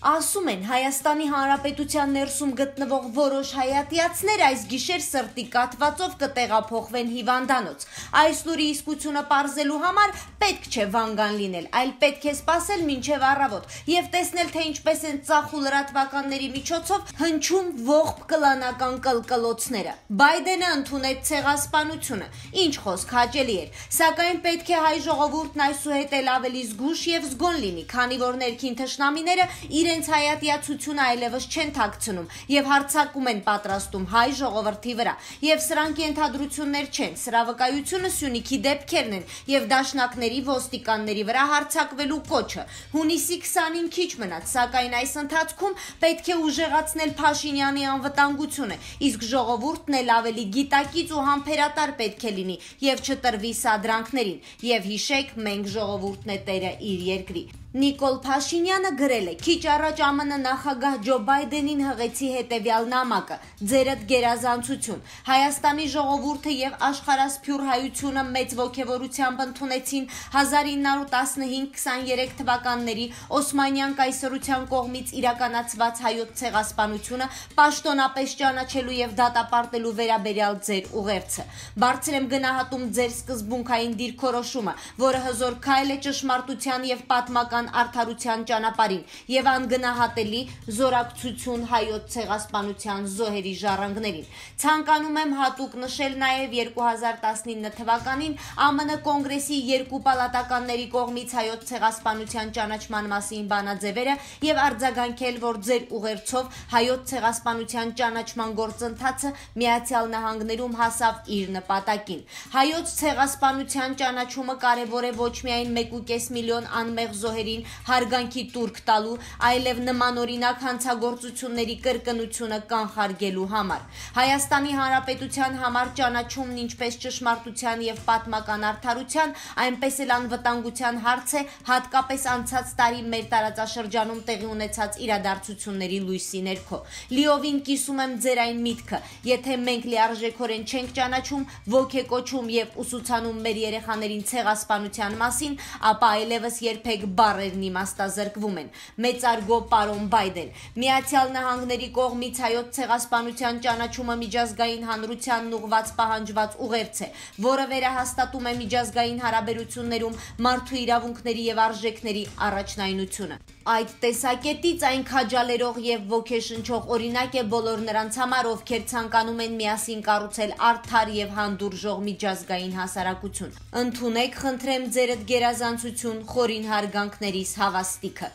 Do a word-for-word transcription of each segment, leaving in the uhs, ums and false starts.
Ասում են Հայաստանի Հանրապետության ներսում գտնվող որոշ հայատյացներ այս գիշեր սրտի կաթվածով կտեղափոխվեն հիվանդանոց։ Այս լուրի իսկությունը պարզելու համար պետք չէ վանգան լինել, այլ պետք է սպասել մինչև առավոտ եւ տեսնել, թե ինչպես են ծախ ու լրատվականների միջոցով հնչում ողբ կլանական կլկլոցները։ Բայդենը ընդունեց ցեղասպանությունը, ինչ խոսք հաճելի էր, սակայն պետք է հայ ժողովուրդն այսուհետ էլ ավելի զգուշ եւ զգոն լինի, քանի որ ներքին թշնամիները իրենց հայատյացությունը այլևս չեն թաքցնում եւ հարձակում են պատրաստում հայ ժողովրդի վրա, եւ սրանք ենթադրություններ չեն, սրա վկայությունը Սյունիքի դեպքերն են եւ դաշնակների ոստիկանների վրա հարձակվելու կոչը։ Հունիսի քսանին քիչ մնաց, սակայն այս ընթացքում պետք է ուժեղացնել Փաշինյանի անվտանգությունը, իսկ ժողովուրդն էլ ավելի գիտակից ու համբերատար պետք է լինի եւ չտրվի սադրանքներին։ Եվ հիշեք, մենք ժողովուրդն է տերը իր երկրի։ Նիկոլ Փաշինյանը գրել է. «Քիչ առաջ ԱՄՆ նախագահ Ջո Բայդենին հղեցի հետևյալ նամակը. ձերդ գերազանցություն։ Հայաստանի ժողովուրդը եւ աշխարհասփյուռ հայությունը մեծ ոգևորությամբ ընդունեցին հազար ինը հարյուր տասնհինգ քսաներեք թվականների Օսմանյան կայսրության կողմից իրականացված հայոց ցեղասպանությունը պաշտոնապես ճանաչելու եւ դատապարտելու վերաբերյալ ձեր ուղերձը։ Բարձր եմ գնահատում ձեր սկզբունքային դիրքորոշումը, որը հզոր քայլ է ճշմարտության եւ պատմական արդարության ճանապարհին եւ անգնահատելի զորակցություն հայոց ցեղասպանության զոհերի ժառանգներին։ Ցանկանում եմ հատուկ նշել նաեւ երկու հազար տասնինը թվականին ԱՄՆ կոնգրեսի երկու պալատականների կողմից հայոց ցեղասպանության ճանաչման մասին բանաձևերը եւ արձագանքել, որ ձեր ուղերձով հայոց ցեղասպանության ճանաչման գործընթացը Միացյալ Նահանգներում հասավ իր նպատակին։ Հայոց ցեղասպանության ճանաչումը կարեւոր է ոչ միայն մեկ ու կես միլիոն անմեղ զոհերի հարգանքի տուրք տալու, այլև նմանօրինակ հանցագործությունների կրկնությունը կանխարգելու համար։ Հայաստանի Հանրապետության համար ճանաչումն ինչպես ճշմարտության եւ պատմական արդարության, այնպես էլ անվտանգության հարց է, հատկապես անցած տարի մեր տարածաշրջանում տեղի ունեցած իրադարձությունների լույսի ներքո։ Լիովին կիսում եմ ձեր այն միտքը, եթե մենք լիարժեքորեն չենք ճանաչում, ոգեկոչում եւ ուսուցանում մեր երեխաներին ցեղասպանության մասին, ապա այլևս երբեք բառերն իմաստազրկվում են։ Մեծարգո պարոն Բայդեն, Միացյալ Նահանգների կողմից հայոց ցեղասպանության ճանաչումը միջազգային հանրությանն ուղղված պահանջված ուղերձ է, որը վերահաստատում է միջազգային հարաբերություններում մարդու իրավունքների եւ արժեքների առաջնայնությունը։ Այդ տեսակետից այն քաջալերող եւ ոգեշնչող օրինակ է բոլոր նրանց համար, ովքեր ցանկանում են միասին կառուցել արդար եւ հանդուրժող միջազգային հասարակություն։ Ընդունեք, խնդրեմ ձերդ գերազանցություն, խորին հարգանքներիս հավաստիքը։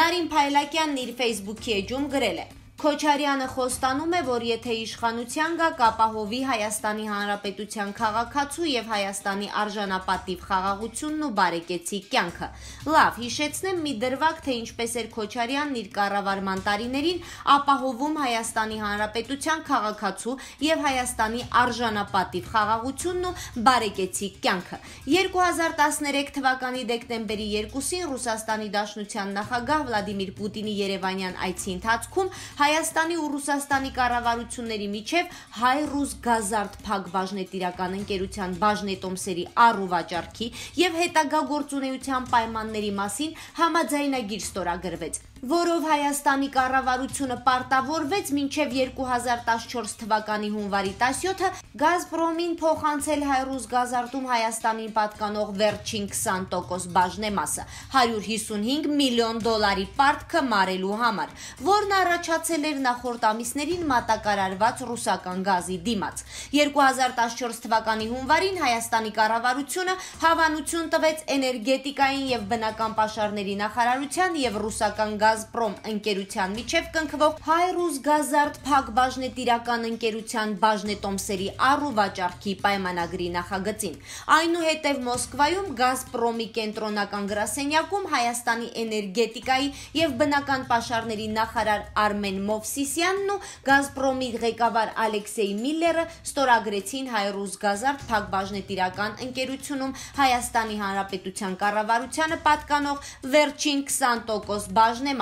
Նարին Փայլակյանն իր Facebook-ի էջում գրել է. Քոչարյանը խոստանում է, որ եթե իշխանության գա, կապահովի Հայաստանի Հանրապետության քաղաքացու եւ Հայաստանի արժանապատիվ խաղաղությունն ու բարեկեցիկ կյանքը։ Լավ, հիշեցնեմ մի դրվագ, թե ինչպես էր Քոչարյանն իր կառավարման տարիներին ապահովում Հայաստանի Հանրապետության քաղաքացու եւ Հայաստանի արժանապատիվ խաղաղությունն ու բարեկեցիկ կյանքը։ երկու հազար տասներեք թվականի դեկտեմբերի երկուսին Ռուսաստանի Դաշնության նախագահ Վլադիմիր Պուտինի Երևանյան այցի ընթացքում Հայաստանի ու Ռուսաստանի կառավարությունների միջև հայ-ռուս գազարդ փակ բաժնետիրական ընկերության բաժնետոմսերի առ ու վաճառքի եւ հետագա գործունեության պայմանների մասին համաձայնագիր ստորագրվեց, որով Հայաստանի կառավարությունը պարտավորվեց մինչև երկու հազար տասնչորս թվականի հունվարի տասնյոթը Գազպրոմին փոխանցել հայ-ռուս գազարտում Հայաստանին պատկանող վերջին քսան տոկոս բաժնեմասը հարյուր հիսունհինգ միլիոն դոլարի պարտքը մարելու համար, որն առաջացել էր նախորդ ամիսներին մատակարարված ռուսական գազի դիմաց։ երկու հազար տասնչորս թվականի հունվարին Հայաստանի կառավարությունը հավանություն տվեց էներգետիկային եւ բնական պաշարների նախարարության եւ ռուսական Գազպրոմ ընկերության միջև կնքվող հայ-ռուս գազարդ փակ բաժնետիրական ընկերության բաժնետոմսերի առ ու վաճառքի պայմանագրի նախագծին։ Այնուհետև Մոսկվայում Գազպրոմի կենտրոնական գրասենյակում Հայաստանի էներգետիկայի եւ բնական պաշարների նախարար Արմեն Մովսիսյանն ու Գազպրոմի ղեկավար Ալեքսեյ Միլլերը ստորագրեցին հայ-ռուս գազարդ փակ բաժնետիրական ընկերությունում Հայաստանի Հանրապետության կառավարությանը պատկանող վերջին քսան տոկոս բաժնեմասը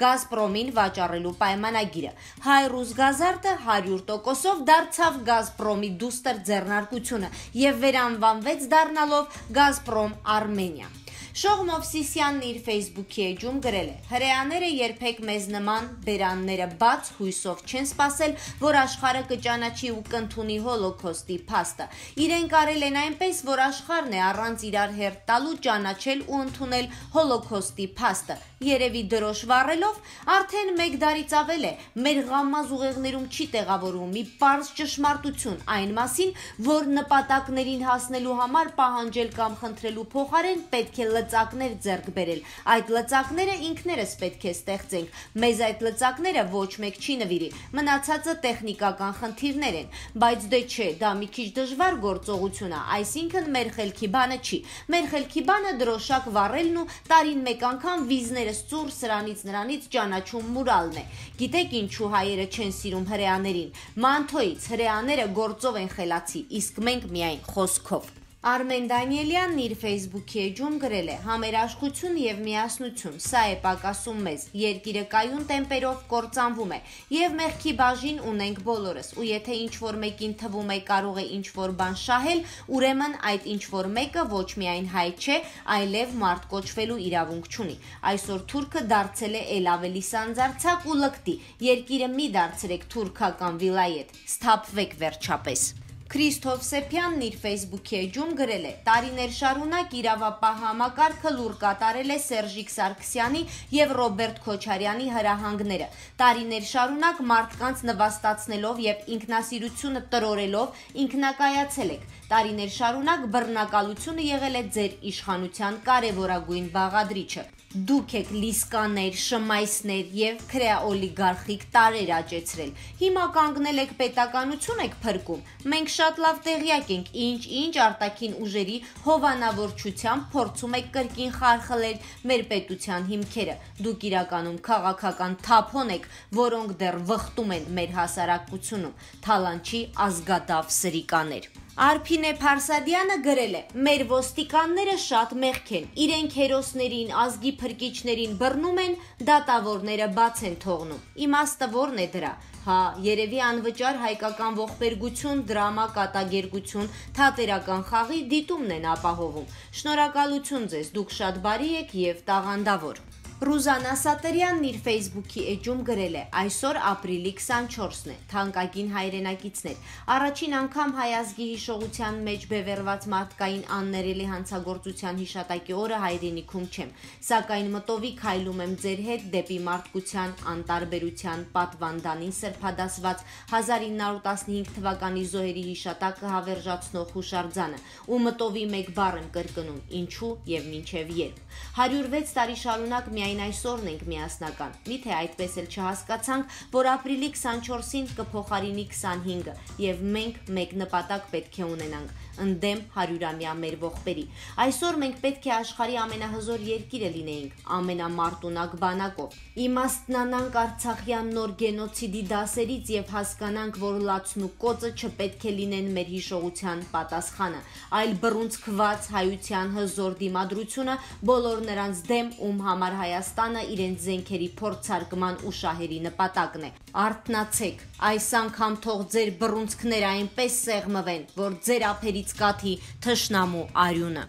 Գազպրոմին վաճառելու պայմանագիրը։ Հայ-ռուս գազարտը հարյուր տոկոսով դարձավ Գազպրոմի դուստր ձեռնարկությունը եւ վերանվանվեց դառնալով Գազպրոմ Արմենիա։ Շողմ Մովսիսյանն իր Facebook-ի էջում գրել է. «Հրեաները երբեք մեզ նման բերանները բաց հույսով չեն սպասել, որ աշխարհը կճանաչի ու կընդունի հոլոքոստի փաստը։ Իրենք արել են այնպես, որ աշխարհն է առանց իրար հերթ տալու ճանաչել ու ընդունել հոլոքոստի փաստը։ Երևի դրոշ վառելով արդեն մեկ դարից ավել է մեր ղամմազ ուղեղներում չի տեղավորում մի պարզ ճշմարտություն այն մասին, որ նպատակներին հասնելու համար պահանջել կամ խնդրելու փոխարեն պետք է լծակներ ձեռք բերել։ Այդ լծակները ինքներս պետք է ստեղծենք։ Մեզ այդ լծակները ոչ մեկ չի նվիրի։ Մնացածը տեխնիկական խնդիրներ են, բայց դե չէ, դա մի քիչ դժվար գործողություն է, այսինքն մեր խելքի բանը չի։ Մեր խելքի բանը դրոշակ վառելն ու տարին մեկ անգամ վիզներս ծուր սրանից նրանից ճանաչում մուրալն է։ Գիտեք ինչու հայերը չեն սիրում հրեաներին։ Մանթոյից հրեաները գործով են խելացի, իսկ մենք միայն խոսքով։ Արմեն Դանիելյանն իր Facebook-ի էջում գրել է. «Համերաշխություն եւ միասնություն, սա է պակասում մեզ, երկիրը կայուն տեմպերով կործանվում է, եւ մեղքի բաժին ունենք բոլորս, ու եթե ինչ-որ մեկին թվում է կարող է ինչ-որ բան շահել, ուրեմն այդ ինչ-որ մեկը ոչ միայն հայ չէ, այլև մարդ կոչվելու իրավունք չունի։ Այսօր թուրքը դարձել է ել ավելի սանձարձակ ու լկտի, երկիրը մի դարձրեք թուրքական վիլայետ, սթափվեք վերջապես»։ Քրիստոֆ Սեփյանն իր Facebook-ի էջում գրել է. «Տարիներ շարունակ իրավապահ համակարգը լուր կատարել է Սերժիկ Սարգսյանի եւ Ռոբերտ Քոչարյանի հրահանգները։ Տարիներ շարունակ մարդկանց նվաստացնելով եւ ինքնասիրությունը տրորելով ինքնակայացել եք։ Տարիներ շարունակ բռնակալությունը եղել է ձեր իշխանության կարևորագույն բաղադրիչը։ Դուք եք լիսկաներ, շմայսներ եւ քրեաօլիգարխիկ տարեր աճեցրել։ Հիմա կանգնել եք պետականություն եք փրկում։ Մենք շատ լավ տեղյակ ենք, ինչ-ինչ արտաքին ուժերի հովանավորչությամբ փորձում եք կրկին խարխլել մեր պետության հիմքերը։ Դուք իրականում քաղաքական թափոն եք, որոնք դեռ վխտում են մեր հասարակությունում։ Թալանչի ազգադավ սրիկաներ»։ Արփինե Փարսադյանը գրել է. «Մեր ոստիկանները շատ մեղք են, իրենք հերոսներին, ազգի փրկիչներին բռնում են, դատավորները բաց են թողնում։ Իմաստը ո՞րն է դրա։ Հա, երևի անվճար հայկական ողբերգություն, դրամա, կատակերգություն, թատերական խաղի դիտումն են ապահովում։ Շնորհակալություն ձեզ, դուք շատ բարի եք եւ տաղանդավոր»։ Ռուզանա Սատերյանն իր Facebook-ի էջում գրել է. «Այսօր ապրիլի քսանչորսն է, թանկագին հայրենակիցներ։ Առաջին անգամ հայ ազգի հիշողության մեջ բևեռված մարդկային աններելի հանցագործության հիշատակի օրը հայրենիքում չեմ, սակայն մտովի քայլում եմ ձեր հետ դեպի մարդկության անտարբերության պատվանդանին սրբադասված հազար ինը հարյուր տասնհինգ թվականի զոհերի հիշատակը հավերժացնող հուշարձանը, ու մտովի մեկ բառ եմ կրկնում՝ ինչու եւ մինչեւ երբ։ հարյուր վեց տարի շարունակ միայն այսօրն ենք միասնական։ Միթե այդպես էլ չհասկացանք, որ ապրիլի քսանչորսին կփոխարինի քսանհինգը, եւ մենք մեկ նպատակ պետք է ունենանք՝ ընդդեմ հարյուրամյա մեր ողբերի։ Այսօր մենք պետք է աշխարհի ամենահզոր երկիրը լինեինք, ամենամարտունակ բանակով։ Իմաստնանանք Արցախյան նոր գենոցիդի դասերից եւ հասկանանք, որ լացն ու կոծը չպետք է լինեն մեր հիշողության պատասխանը, այլ բռունցքված հայության հզոր դիմադրությունը բոլոր նրանց դեմ, ում համար Հայաստանը իրենց զենքերի փորձարկման ու շահերի նպատակն է։ Արթնացեք, այս անգամ թող ձեր բռունցքները այնպես սեղմվեն, որ ձեր ափերից կաթի թշնամու արյունը»։